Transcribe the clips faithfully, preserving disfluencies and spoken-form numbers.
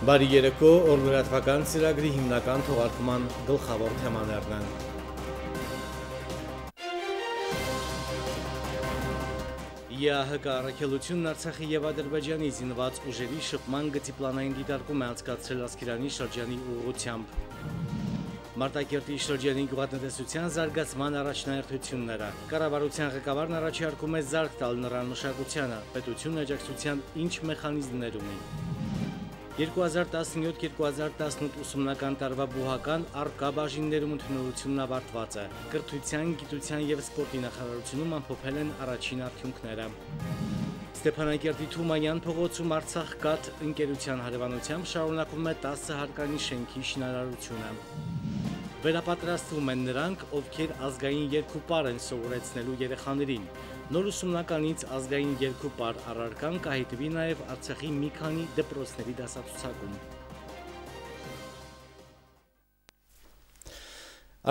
Բարի երեկո, օրլրատվական ծրագրի հիմնական թողարկման գլխավոր թեմաներն են։ ԵԱՀԿ առաքելությունն Արցախի եւ Ադրբեջանի զինված ուժերի շփման գծի պլանային դիտարկում է անցկացրել Ասկերանի շրջանի ուղղությամբ։ Մարտակերտի շրջանի գյուղատնտեսության զարգացման առաջնահերթությունները։ Կառավարության ղեկավարն առաջարկում է զարկ տալ նրան մշակությանը, պետությունը աջակցության ինչ մեխանիզմներ ունի։ երկու հազար տասնյոթ երկու հազար տասնութ ուսումնական տարվա բուհական առկա բաժիններում ընդունելությունն ավարտված է։ Կրթության, գիտության եւ սպորտի նախարարությունում ամփոփել են առաջին արդյունքները։ Ստեփանակերտի Թումանյան փողոցում Արցախ կաթ ընկերության հարևանությամբ շարունակվում է տասը հարկանի շենքի շինարարությունը։ Վերապատրաստվում են նրանք, ովքեր ազգային երկու պար են սովորեցնելու երեխաներին։ Նոր ուսումնականից ազգային երկու պար առարկան կհայտվի նաև Արցախի մի քանի դպրոցների դասացուցակում։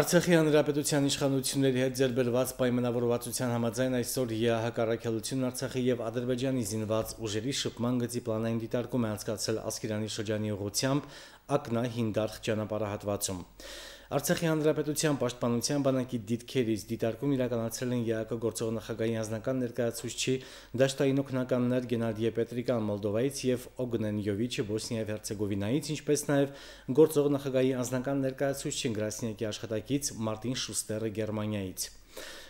Արցախի հանրապետության իշխանությունների հետ ձեռբերված պայմանավորվածության համաձայն այսօր ԵԱՀԿ առաքելությունն Արցախի եւ Ադրբեջանի զինված ուժերի շփման գծի պլանային դիտարկում է անցկացրել Ասկերանի շրջանի ուղղությամբ Ակնա-Հինդարխ ճանապարհահատվածում։ Արցախի հանրապետության պաշտպանության բանակի դիրքերից դիտարկում իրականացրել են ԵԱՀԿ գործող նախագահի անձնական ներկայացուցչի դաշտային օգնականներ Գենադիե Պետրիկան Մոլդովայից եւ Օգնեն Յովիչը Բոսնիա եւ Հերցեգովինայից, ինչպես նաեւ գործող նախագահի անձնական ներկայացուցչի Գրասնյակի աշխատակից Մարտին Շուստերը Գերմանիայից։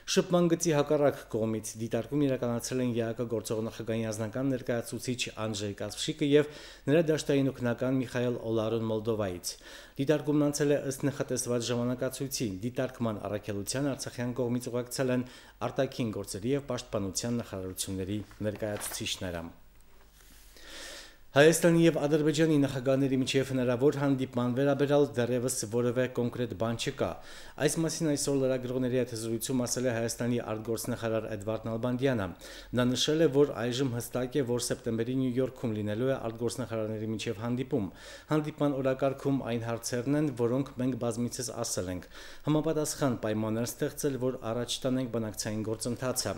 Շփման գծի հակառակ կողմից դիտարկում իրականացրել են ԵԱՀԿ գործող նախագահի անձնական ներկայացուցիչ Անջեյ Կասպշիկը եւ նրա դաշտային օգնական Միխայել Օլարոն Մոլդովայից։ Դիտարկումն անցել է ըստ նախատեսված ժամանակացույցի։ Դիտարկման առաքելության արցախյան կողմից ուղեկցել են արտաքին գործերի եւ պաշտպանության նախարարությունների ներկայացուցիչները։ Հայաստանի եւ Ադրբեջանի նախագահների միջև հնարավոր հանդիպման վերաբերյալ դեռևս որևէ կոնկրետ բան չկա։ Այս մասին այսօր լրագրողների հետ զրույցում ասել է Հայաստանի արտգործնախարար Էդվարդ Նալբանդյանը։ Նա նշել է, որ այժմ հստակ է, որ սեպտեմբերի Նյու Յորքում լինելու է արտգործնախարարների միջև հանդիպում։ Հանդիպման օրակարգում այն հարցերն են, որոնք մենք բազմիցս ասել ենք։ Համապատասխան պայմաններ ստեղծել, որ առաջ տանենք բանակցային գործընթացը։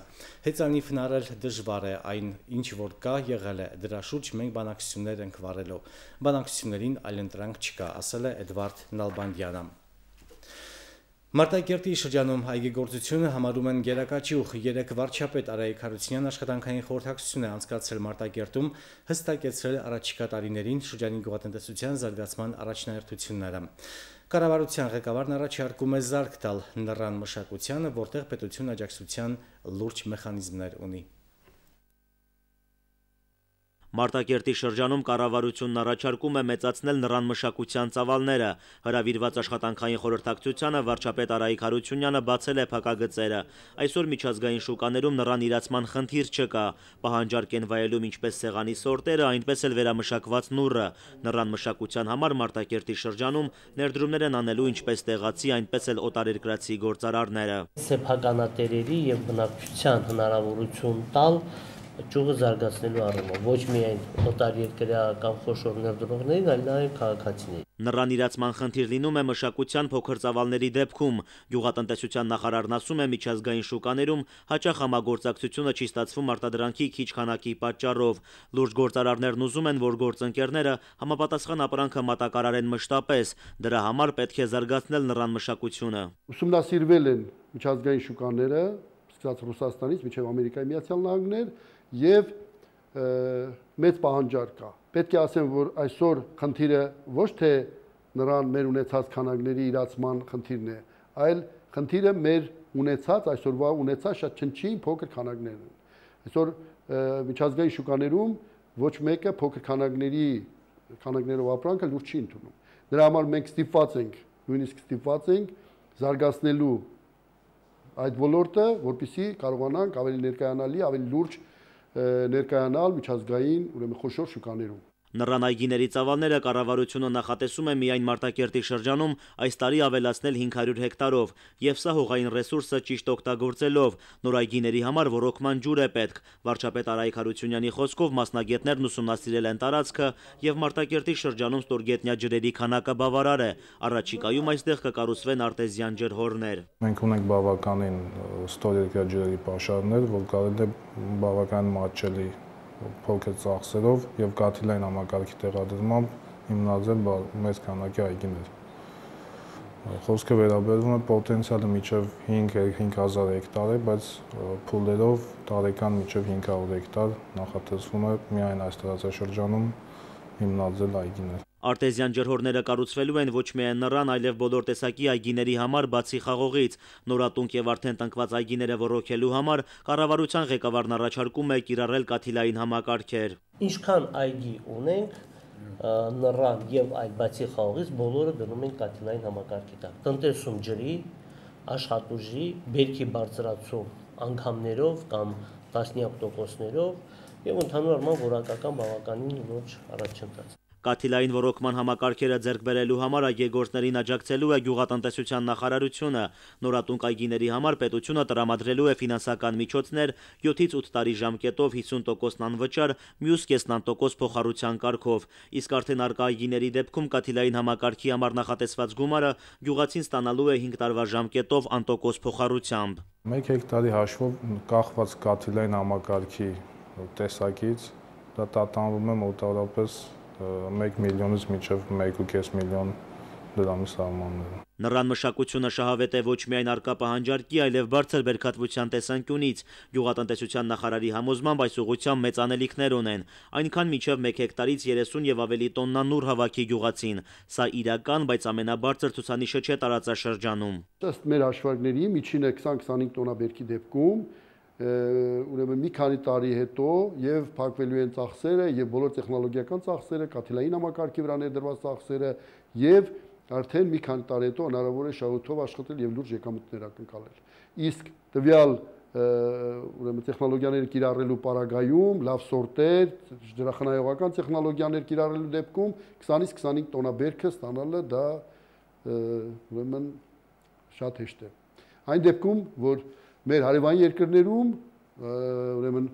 Հեծանիվ հնարել դժվար է, այն ինչ որ կա եղել է, դրա շուրջ մենք բանակցություններ ենք վարելու։ Բանակցություններին այլընտրանք չկա, ասել է Էդվարդ Նալբանդյանը։ Մարտակերտի շրջանում այգեգործությունը համարում են գերակաճյուղ։ Երեք վարչապետ Արայիկ Հարությունյան աշխատանքային խորհրդակցություն է անցկացրել Մարտակերտում, հստակեցրել առաջիկա տարիներին շրջանի գյուղատնտեսության զարգացման առաջնահերթությունները։ Կառավարության ղեկավարն առաջարկում է զարկ տալ նրան մշակությանը, որտեղ պետություն աջակցության լուրջ մեխանիզմներ ունի։ Մարտակերտի շրջանում կառավարությունն առաջարկում է մեծացնել նրան մշակության ծավալները։ Հրավիրված աշխատանքային խորհրդակցությանը վարչապետ Արայիկ Հարությունյանը բացել է փակագծերը։ Այսօր միջազգային շուկաներում նրան իրացման խնդիր չկա։ Պահանջարկ են վայելում ինչպես սեղանի սորտերը, այնպես էլ վերամշակված նուռը։ Նրան մշակության համար Մարտակերտի շրջանում ներդրումներ են անելու ինչպես տեղացի, այնպես էլ օտարերկրացի գործարարները։ Սեփականատերերի եւ բնակչության հնարավորություն տալ ճյուղը զարգացնելու առումով ոչ միայն օտարերկրյա կամ խոշոր ներդրողներին, այլ նաև քաղաքացիներին։ Նրան իրացման խնդիր լինում է մշակության փոքր ծավալների դեպքում։ Գյուղատնտեսության նախարարն ասում է, միջազգային շուկաներում հաճախ համագործակցությունը չի ստացվում արտադրանքի քիչ քանակի պատճառով։ Լուրջ գործարարներն ուզում են, որ գործընկերները համապատասխան ապրանքը մատակարարեն մշտապես։ Դրա համար պետք է զարգացնել նրան մշակությունը։ Ուսումնասիրվել են միջազգային շուկաները, սկսած Ռուսաստանից մինչև Ամերիկայի Միացյալ Նահանգներ եւ մեծ պահանջարկ կա։ Պետք է ասեմ, որ այսօր խնդիրը ոչ թե նրան մեր ունեցած քանակների իրացման խնդիրն է, այլ խնդիրը մեր ունեցած այսօրվա ունեցած շատ չնչին փոքր քանակներն են։ Այսօր միջազգային շուկաներում ոչ մեկը փոքր քանակների քանակներով ապրանքը լուրջ չի ընդունում։ Դրա համար մենք ստիպված ենք, նույնիսկ ստիպված ենք զարգացնելու այդ ոլորտը, որպեսզի կարողանանք ավելի ներկայանալի, ավելի լուրջ ներկայանալ միջազգային, ուրեմն խոշոր շուկաներում։ Նրան այգիների ծավալները կառավարությունը նախատեսում է միայն Մարտակերտի շրջանում այս տարի ավելացնել հինգ հարյուր հեկտարով, եւ սա հողային ռեսուրսը ճիշտ օգտագործելով։ Նոր այգիների համար ռոռոկման ջուր է պետք։ Վարչապետ Արայիկ Հարությունյանի խոսքով մասնագետներն ուսումնասիրել են տարածքը եւ Մարտակերտի շրջանում ստորգետնյա ջրերի քանակը բավարար է։ Առաջիկայում այստեղ կկառուցվեն արտեզյան ջրհորներ։ Մենք ունենք բավականին ստորգետնյա ջրերի պաշարներ, որ կարելի է բավական մատչելի փոքր ծախսերով եւ կաթիլային համակարգի տեղադրմամբ հիմնադրել մեծ քանակի այգիներ։ Խոսքը վերաբերում է պոտենցիալը մինչև հինգ հազար հեկտար է, բայց փուլերով տարեկան մինչև հինգ հարյուր հեկտար նախատեսվում է միայն այս տարածաշրջանում հիմնադրել այգիներ։ Արտեզյան ջրհորները կառուցվելու են ոչ միայն նռան, այլև բոլոր տեսակի այգիների համար, բացի խաղողից։ Նորատունկ եւ արդեն տնկված այգիները ոռոգելու համար կառավարության ղեկավարն առաջարկում է կիրառել կաթիլային համակարգեր։ Ինչքան այգի ունենք, նռան եւ այլ բացի խաղողից բոլորը դնում են կաթիլային համակարգի տակ։ Տնտեսում ջրի, աշխատուժի, բերքի բարձրացում անգամներով կամ տասնյակ տոկոսներով եւ ընդհանուր առմամբ որակական բավականին լուրջ առաջընթաց։ Կաթիլային ոռոգման համակարգերը ձեռք բերելու համար այգեգործներին աջակցելու է գյուղատնտեսության նախարարությունը։ Նորատունկ այգիների համար պետությունը տրամադրելու է ֆինանսական միջոցներ յոթից ութ տարի ժամկետով հիսուն տոկոսն անվճար, մյուս կեսն տոկոս փոխառության կարգով։ Իսկ արդեն արկա այգիների դեպքում կաթիլային համակարգի համար նախատեսված գումարը գյուղացին ստանալու է հինգ տարվա ժամկետով անտոկոս փոխառությամբ։ Մեկ հեկտարի հաշվով կախված կաթիլային համակարգի տեսակից դա տատանվում է մոտավորապես մեկ միլիոնից մինչև մեկ ու կես միլիոն դրամի սահմաններում։ Նռան մշակությունը շահավետ է ոչ միայն արկա պահանջարկի, այլև բարձր բերքատվության տեսանկյունից։ Գյուղատնտեսության նախարարի համոզմամբ այս ուղղությամբ մեծ անելիքներ ունեն, այնքան մինչև մեկ հեկտարից երեսուն եւ ավելի տոննա նուռ հավաքի գյուղացին։ Սա իրական, բայց ամենաբարձր ցուցանիշը չէ տարածաշրջանում։ Ըստ մեր հաշվարկների միջինը քսան քսանհինգ տոննա բերքի դեպքում ուրեմն մի քանի տարի հետո եւ փակվելու են ծախսերը եւ բոլոր տեխնոլոգիական ծախսերը, կաթիլային համակարգի վրա ներդրված ծախսերը եւ արդեն մի քանի տարի հետո հնարավոր է շահութով աշխատել եւ լուրջ եկամուտներ ակնկալել։ Իսկ տվյալ ուրեմն տեխնոլոգիաներ կիրառելու պարագայում, լավ սորտեր, ջրախնայողական տեխնոլոգիաներ կիրառելու դեպքում քսանից քսանհինգ տոննա բերքը ստանալը դա ուրեմն շատ հեշտ է։ Այն դեպքում, որ մեր հարևան երկրներում, ուրեմն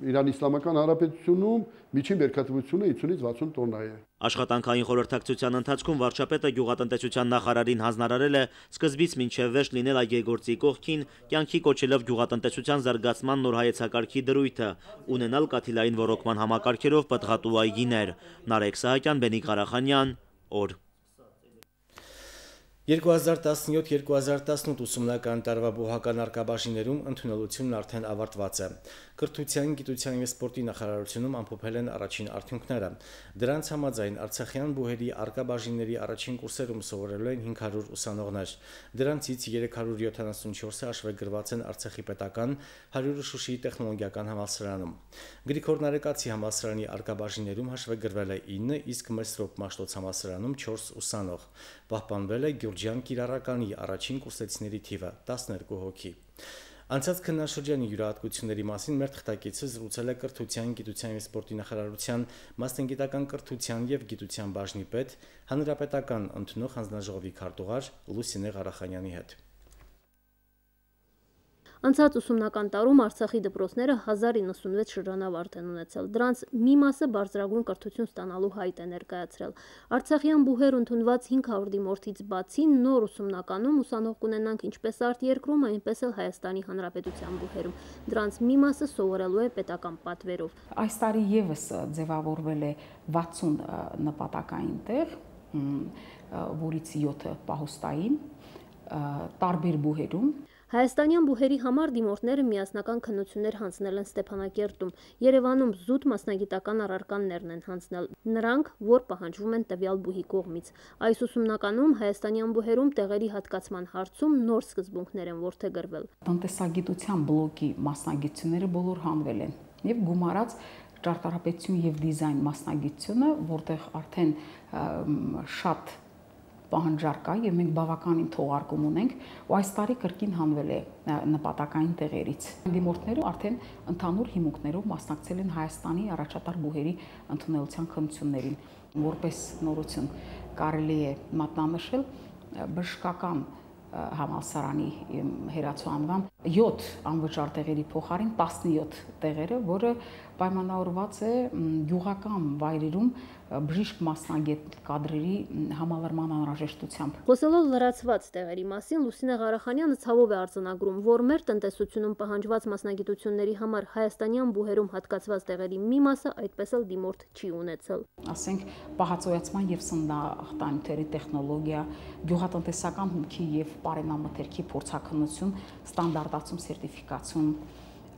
Իրան Իսլամական Հանրապետությունում միջին բերքատվությունը հիսունից վաթսուն տոննա է։ Աշխատանքային խորհրդակցության ընթացքում վարչապետը գյուղատնտեսության նախարարին հանձնարարել է սկզբից մինչև վերջ լինել այգեգործի կողքին, կյանքի կոչելով գյուղատնտեսության զարգացման նոր հայեցակարգի դրույթը, ունենալ կաթիլային ոռոգման համակարգերով պտղատու այգիներ։ Նարեկ Սահակյան, Բենիկ Ղարախանյան, օր։ երկու հազար տասնյոթ երկու հազար տասնութ ուսումնական տարվա բուհական արկաբաժիններում ընդունելությունն արդեն ավարտված է։ Կրթության, գիտության և սպորտի նախարարությունում ամփոփել են առաջին արդյունքները։ Դրանց համաձայն Արցախյան բուհերի արկաբաժինների առաջին կուրսերում սովորելու են հինգ հարյուր ուսանողներ։ Դրանցից երեք հարյուր յոթանասունչորսը հաշվեկրված են Արցախի պետական, հարյուրը Շուշիի տեխնոլոգիական համալսարանում։ Գրիգոր Նարեկացի համալսարանի արկաբաժիններում հաշվեկրվել է ինը, իսկ Մեսրոպ Մաշտոց համալսարանում չորս ուսանող։ Պահպանվել է Գյուրջյան կիրառականի առաջին կուրսեցիների թիվը տասներկու հոգի։ Անցած քննաշրջանի յուրահատկությունների մասին մեր թղթակիցը զրուցել է Կրթության, գիտության և սպորտի նախարարության մասնագիտական կրթության և գիտության բաժնի պետ, հանրապետական ընդունող հանձնաժողովի քարտուղար Լուսինե Ղարախանյանի հետ։ Անցած ուսումնական տարում Արցախի դպրոցները հազար իննսունվեց շրջանավարտ են ունեցել։ Դրանց մի մասը բարձրագույն կրթություն ստանալու հայտ է ներկայացրել։ Արցախյան բուհեր ընդունված հինգ հարյուր դիմորդից բացի նոր ուսումնականում ուսանող կունենանք ինչպես արտերկրում, այնպես էլ Հայաստանի Հանրապետության բուհերում։ Դրանց մի մասը սովորելու է պետական պատվերով։ Այս տարի եւս ձևավորվել է վաթսուն նպատակային տեղ, որից յոթը պահոստային, տարբեր բուհերում։ Հայաստանյան բուհերի համար դիմորդները միասնական քննություններ հանձնել են Ստեփանակերտում, Երևանում զուտ մասնագիտական առարկաներն են հանձնել, նրանք, որ պահանջվում են տվյալ բուհի կողմից։ Այս ուսումնականում Հայաստանյան բուհերում տեղերի հատկացման հարցում նոր սկզբունքներ են որդեգրվել։ Տնտեսագիտության բլոկի մասնագիտությունները բոլոր հանվել են եւ գումարած ճարտարապետություն եւ դիզայն մասնագիտությունը, որտեղ արդեն շատ պահանջարկ կա եւ մենք բավականին թողարկում ունենք ու այս տարի կրկին հանվել է նպատակային տեղերից։ Դիմորդները արդեն ընդհանուր հիմունքներով մասնակցել են Հայաստանի առաջատար բուհերի ընդունելության քննություններին։ Որպես նորություն կարելի է մատնանշել բժշկական համալսարանի հերացու անվան յոթ անվճար տեղերի փոխարեն տասնյոթ տեղերը, որը պայմանավորված է գյուղական վայրերում բժիշկ մասնագետ կադրերի համալրման անհրաժեշտությամբ։ Խոսելով լրացված տեղերի մասին, Լուսինե Ղարախանյանը ցավով է արձանագրում, որ մեր տնտեսությունում պահանջված մասնագիտությունների համար հայաստանյան բուհերում հատկացված տեղերի մի մասը այդպես էլ դիմորդ չի ունեցել։ Ասենք պահածոյացման եւ սննդահաղթանյութերի տեխնոլոգիա, գյուղատնտեսական հումքի եւ պարենամթերքի փորձաքննություն, ստանդարտացում, սերտիֆիկացիոն,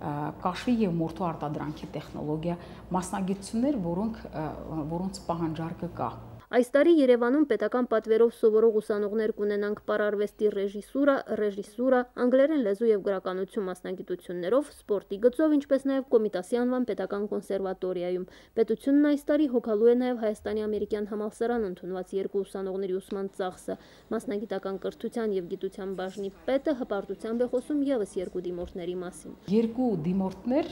կաշվի եւ մորթու արտադրանքի տեխնոլոգիա, մասնագիտություններ, որոնք որոնց պահանջարկը կա։ Այս տարի Երևանում պետական պատվերով սովորող ուսանողներ կունենանք պարարվեստի ռեժիսուրա, ռեժիսուրա, անգլերեն լեզու եւ գրականություն մասնագիտություններով, սպորտի գծով, ինչպես նաեւ Կոմիտասի անվան պետական կոնսերվատորիայում։ Պետությունն այս տարի հոգալու է նաեւ Հայաստանի ամերիկյան համալսարան ընդունված երկու ուսանողների ուսման ծախսը։ Մասնագիտական կրթության եւ գիտության բաժնի պետը հպարտությամբ է խոսում եւս երկու դիմորդների մասին։ Երկու դիմորդներ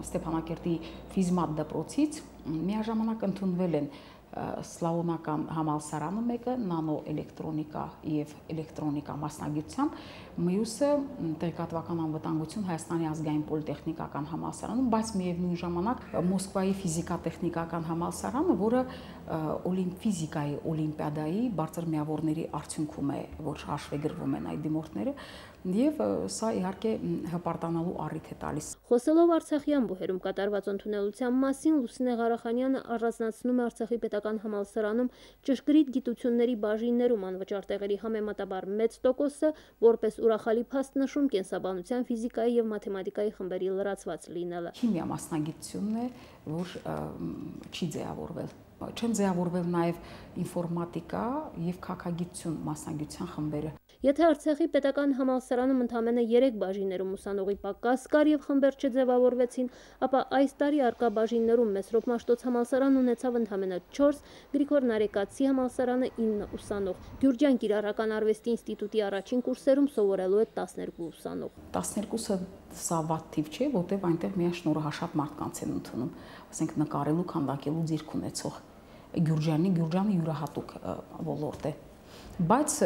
Ստեփանակերտի ֆիզմատ դպրոցից միաժամանակ ընդունվել են Սլավոնական համալսարանը մեկը նանո էլեկտրոնիկա եւ էլեկտրոնիկա մասնագիտությամբ, մյուսը տեղեկատվական անվտանգություն Հայաստանի ազգային պոլիտեխնիկական համալսարանում, բայց միևնույն ժամանակ Մոսկվայի ֆիզիկա-տեխնիկական համալսարանը, որը ֆիզիկայի օլիմպիադայի բարձր միավորների արդյունքում է, որ հաշվեգրվում են այդ դիմորդները, եւ սա իհարկե հպարտանալու առիթ է տալիս։ Խոսելով Արցախյան բուհերում կատարված ընդունելության մասին, Լուսինե Ղարախանյանը առանձնացնում է Արցախի պետական համալսարանում ճշգրիտ գիտությունների բաժիններում անվճար տեղերի համեմատաբար մեծ տոկոսը, որպես ուրախալի փաստ նշում կենսաբանության, ֆիզիկայի եւ մաթեմատիկայի խմբերի լրացված լինելը։ Քիմիա մասնագիտությունն է, որ չի ձևավորվել։ Չեն ձևավորվել նաև ինֆորմատիկա եւ քաղաքագիտություն մասնագիտության խմբերը։ Եթե Արցախի պետական համալսարանում ընդամենը երեք բաժիններում ուսանողի պակաս կար եւ խմբեր չձևավորվեցին, ապա այս տարի արկա բաժիններում Մեսրոպ Մաշտոց համալսարանն ունեցավ ընդամենը չորս, Գրիգոր Նարեկացի համալսարանը ինը ուսանող, Գյուրջան Կիրառական արվեստի ինստիտուտի առաջին կուրսերում սովորելու է տասներկու ուսանող։ տասներկուսը սա վատ թիվ չէ, որտեղ այնտեղ միայն շնորհաշատ մարդկանց են ընդունում, ասենք նկարելու, քանդակելու ձիրք ունեցող։ Գյուրջանի Գյուրջանը յուրահատուկ ոլորտ է, բայց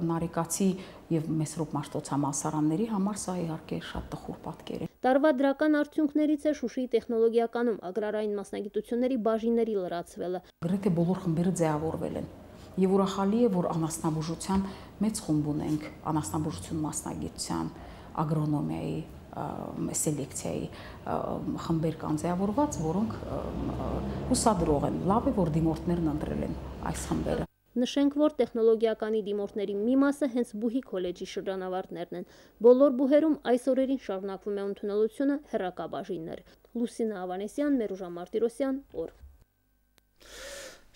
Նարեկացի եւ Մեսրոպ Մաշտոց համալսարանների համար սա իհարկե շատ տխուր պատկեր է։ Տարվա դրական արդյունքներից է Շուշիի տեխնոլոգիականում ագրարային մասնագիտությունների բաժինների լրացվելը։ Գրեթե բոլոր խմբերը ձևավորվել են եւ ուրախալի է, որ անասնաբուժության մեծ խումբ ունենք, անասնաբուժություն մասնագիտության, ագրոնոմիայի, սելեկցիայի խմբեր կան ձևավորված, որոնք հուսադրող են։ Լավ է, որ դիմորդներն ընտրել են այս խմբերը։ Նշենք, որ տեխնոլոգիականի դիմորդների մի մասը հենց Բուհի քոլեջի շրջանավարտներն են։ Բոլոր բուհերում այս օրերին շարունակվում է ընդունելությունը հեռակա բաժիններ։ Լուսինե Ավանեսյան, Մերուժա Մարտիրոսյան, օր։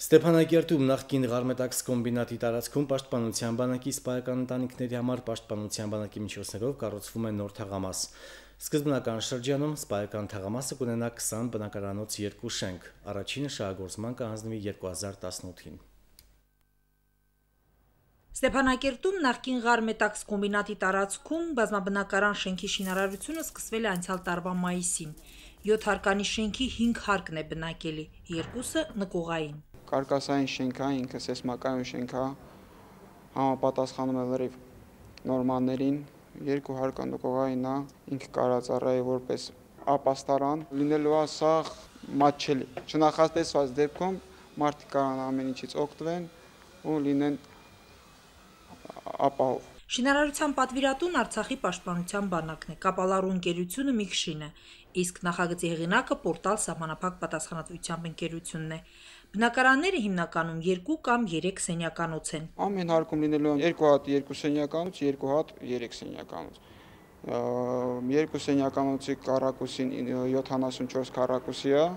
Ստեփանակերտում նախկին Ղարմետաքս կոմբինատի տարածքում Պաշտպանության բանակի սպայական ընտանիքների համար Պաշտպանության բանակի միջոցներով կառուցվում է նոր թաղամաս։ Սկզբնական շրջանում սպայական թաղամասը կունենա քսան բնակարանոց երկու շենք, առաջինը շահագործման կհանձնվի երկու հազար տասնութին։ Ստեփանակերտում նախկին Ղարմետաքս կոմբինատի տարածքում բազմաբնակարան շենքի շինարարությունը սկսվել է անցյալ տարվա մայիսին։ յոթ հարկանի շենքի հինգ հարկն է բնակելի, երկուսը նկուղային։ Կարկասային շենքա, ինքը սեյսմակայուն շենքա, համապատասխանում է լրիվ նորմաներին, երկու հարկը նկուղային է, ինքը կարածառայի որպես ապաստարան, լինելու է սա մատչելի։ Չնախատեսված դեպքում մարդիկ կարան ամեն ինչից օգտվեն ու լինեն ապահով։ Շինարարության պատվիրատուն Արցախի պաշտպանության բանակն է, կապալառու ընկերությունը Միքշին է, իսկ նախագծի հեղինակը Պորտալ սահմանափակ պատասխանատվությամբ ընկերությունն է։ Բնակարանները հիմնականում երկու կամ երեք սենյականոց են։ Ամեն հարկում լինելու են երկու հատ երկու սենյականոց, երկու հատ երեք սենյականոց։ Երկու սենյականոցի քառակուսին յոթանասունչորս քառակուսի է,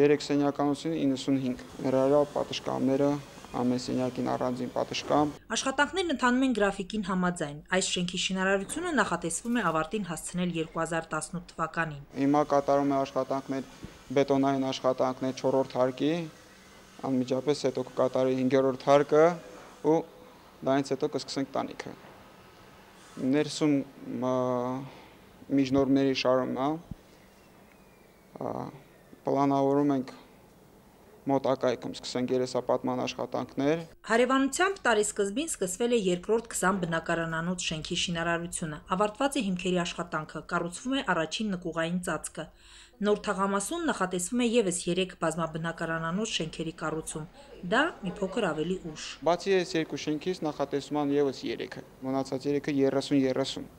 երեք սենյականոցին իննսունհինգ։ Ներառյալ պատշգամբները ամեն սենյակին առանձին պատշգամբ։ Աշխատանքներն ընթանում են գրաֆիկին համաձայն։ Այս շենքի շինարարությունը նախատեսվում է ավարտին հասցնել երկու հազար տասնութ թվականին։ Հիմա կատարում է աշխատանքներ, բետոնային աշխատանքներ չորրորդ հարկի, անմիջապես հետո կկատարի հինգերորդ հարկը ու դրանից հետո կսկսենք տանիքը։ Ներսում միջնորդների շարումն է, պլանավորում ենք մոտակայքում սկսենք երեսապատման աշխատանքներ։ Հարևանությամբ տարեսկզբին սկսվել է երկրորդ քսան բնակարանանոց շենքի շինարարությունը, ավարտված է հիմքերի աշխատանքը, կառուցվում է առաջին նկուղային ծածկը։ Նոր թաղամասում նախատեսվում է ևս երեք բազմաբնակարանանոց շենքերի կառուցում, դա մի փոքր ավելի ուշ։ Բացի այս երկու շենքից նախատեսվում են ևս երեքը, մնացած երեքը երեսուն երեսուն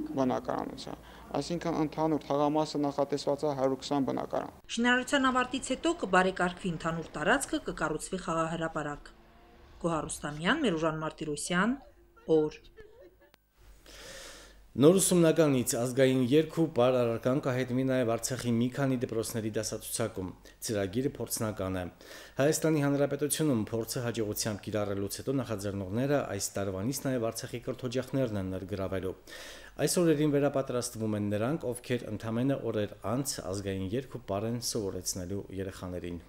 բնակարանոց է, այսինքն ընդհանուր թաղամասը նախատեսված է հարյուր քսան բնակարան։ Շինարարության ավարտից հետո կբարեկարգվի ընդհանուր տարածքը, կկառուցվի խաղահրապարակ։ Գոհար Ռուստամյան, Մերուժան Մարտիրոսյան, օր։ Նոր ուսումնականից ազգային երգ ու պար առարկան կհայտնվի նաև Արցախի մի քանի դպրոցների դասացուցակում։ Ծրագիրը փորձնական է։ Հայաստանի Հանրապետությունում փորձը հաջողությամբ կիրառելուց հետո նախաձեռնողները այս տարվանից նաև Արցախի կրթօջախներն են ներգրավելու։ Այս օրերին վերապատրաստվում են նրանք, ովքեր ընդամենը օրեր անց ազգային երգ ու պար են սովորեցնելու երեխաներին։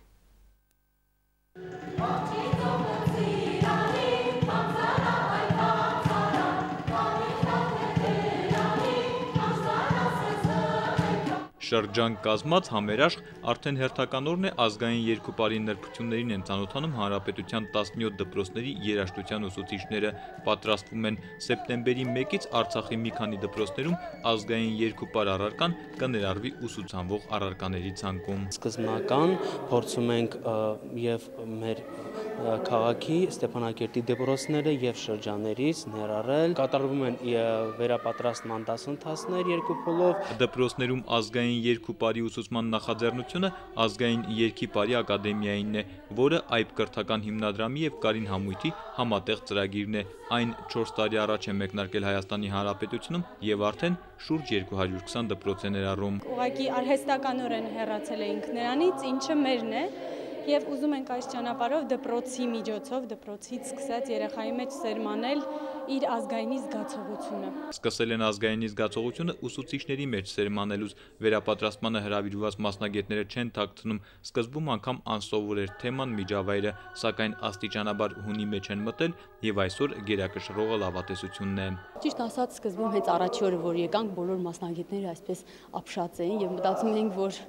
Շրջան կազմած համերաշխ արդեն հերթական օրն է ազգային երկու պարի նրբություններին են ծանոթանում հանրապետության տասնյոթ դպրոցների երաժշտության ուսուցիչները, պատրաստվում են սեպտեմբերի մեկից Արցախի մի քանի դպրոցներում ազգային երկու պար առարկան կներառվի ուսուցանվող առարկաների ցանկում։ Սկզբնական փորձում ենք եւ մեր քաղաքի Ստեփանակերտի դպրոցները եւ շրջաններից ներառել, կատարվում են վերապատրաստման դասընթացներ երկու փուլով։ Դպրոցներում ազգային երկու պարի ուսուցման նախաձեռնությունը ազգային երգի պարի ակադեմիայինն է, որը այբ կրթական հիմնադրամի եւ Կարին համույթի համատեղ ծրագիրն է։ Այն չորս տարի առաջ է մեկնարկել Հայաստանի Հանրապետությունում եւ արդեն շուրջ երկու հարյուր քսան դպրոց է ներառում։ Ուղղակի արհեստականորեն հեռացել էինք նրանից, ինչը մերն է։ Եվ ուզում ենք այս ճանապարհով դպրոցի միջոցով, դպրոցից սկսած երեխայի մեջ սերմանել իր ազգայինի զգացողությունը։ Սկսել են ազգայինի զգացողությունը ուսուցիչների մեջ սերմանելուց, վերապատրաստմանը հրավիրված մասնագետները չեն թաքցնում, սկզբում անգամ անսովոր էր թեման միջավայրը, սակայն աստիճանաբար հունի մեջ են մտել եւ այսօր գերակշռողը լավատեսությունն է։ Ճիշտ ասած, սկզբում հենց առաջի օրը, որ եկանք, բոլոր մասնագետները այսպես ապշած էին եւ մտածում էինք, որ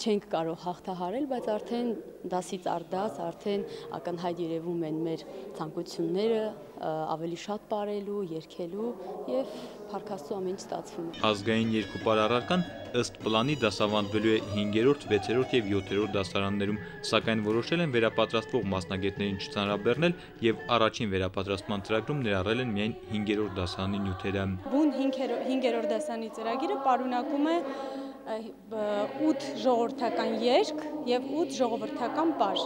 չենք կարող հաղթահարել, բայց արդեն դասից առ դաս արդեն ակնհայտ երևում են մեր ցանկությունները ավելի շատ ապրելու, երգելու եւ փառքաստու ամեն ինչ ստացվում է։ Ազգային երկու պար առարկան ըստ պլանի դասավանդվելու է հինգերորդ, վեցերորդ եւ յոթերորդ դասարաններում, սակայն որոշել են վերապատրաստվող մասնագետներին չծանրաբեռնել եւ առաջին վերապատրաստման ծրագրում ներառել են միայն հինգերորդ դասարանի նյութերը։ Բուն հինգերորդ դասարանի ծրագիրը պարունակում է ութ ժողովրդական երգ եւ ութ ժողովրդական պար,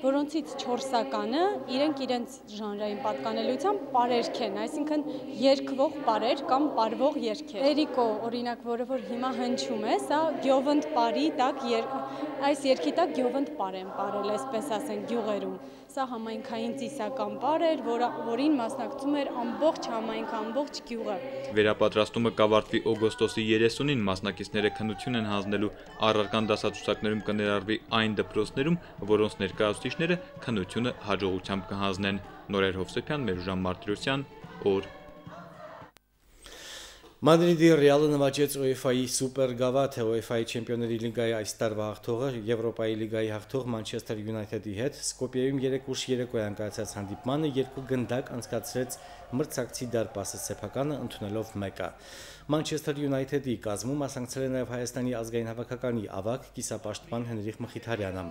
որոնցից չորսականը իրենք իրենց ժանրային պատկանելիությամբ պարերք են, այսինքն երգվող պարեր կամ պարվող երգեր։ Էրիկո օրինակ, որը որ հիմա հնչում է, սա գյովընդ պարի տակ, այս երգի տակ գյովընդ պար են պարել, այսպես ասենք գյուղերում։ Սա համայնքային ծիսական պար էր, որին մասնակցում էր ամբողջ համայնքը, ամբողջ գյուղը։ Վերապատրաստումը կավարտվի օգոստոսի երեսունին, մասնակիցները քննություն են հանձնելու, առարկան դասացուցակներում կներառվի այն դպրոցներում, որոնց ներկայացուցիչները քննությունը հաջողությամբ կհանձնեն։ Նորեր Հովսեփյան, Մերուժան Մարտիրոսյան, օր։ Մադրիդի Ռեալը նվաճեց UEFA-ի սուպեր գավաթը, UEFA-ի Չեմպիոնների լիգայի այս տարվա հաղթողը Եվրոպայի լիգայի հաղթող Մանչեսթեր Յունայթեդի հետ Սկոպիեում երեք ուշ երեկոյան կայացած հանդիպմանը երկու գնդակ անցկացրեց մրցակցի դարպասը սեփականը ընդունելով մեկը։ Մանչեսթեր Յունայթեդի կազմում մասնակցել է նաև Հայաստանի ազգային հավաքականի ավագ կիսապաշտպան Հենրիխ Մխիթարյանը։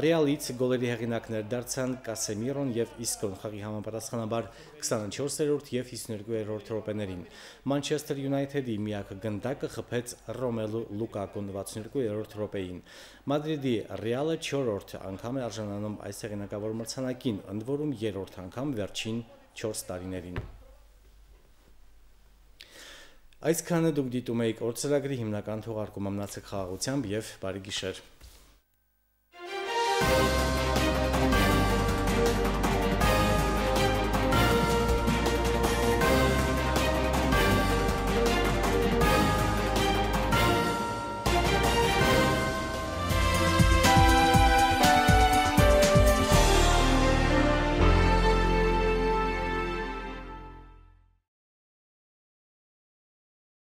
Ռեալից գոլերի հեղինակներ դարձան Կասեմիրոն եւ Իսկոն խաղի համապատասխանաբար քսաներորդ եւ հիսուներկուերորդ րոպեներին։ Մանչեսթեր Յունայթեդի միակ գնդակը խփեց Ռոմելու Լուկակուն վաթսուններորդ րոպեին։ Մադրիդի Ռեալը չորրորդ անգամ է արժանանում այս հեղինակավոր մրցանակին, ընդ որում երրորդ անգամ վերջին չորս տարիներին։ Այսքանը դուք դիտում եք օր ծրագրի հիմնական թողարկումը, մնացեք խաղաղությամբ եւ բարի գիշեր։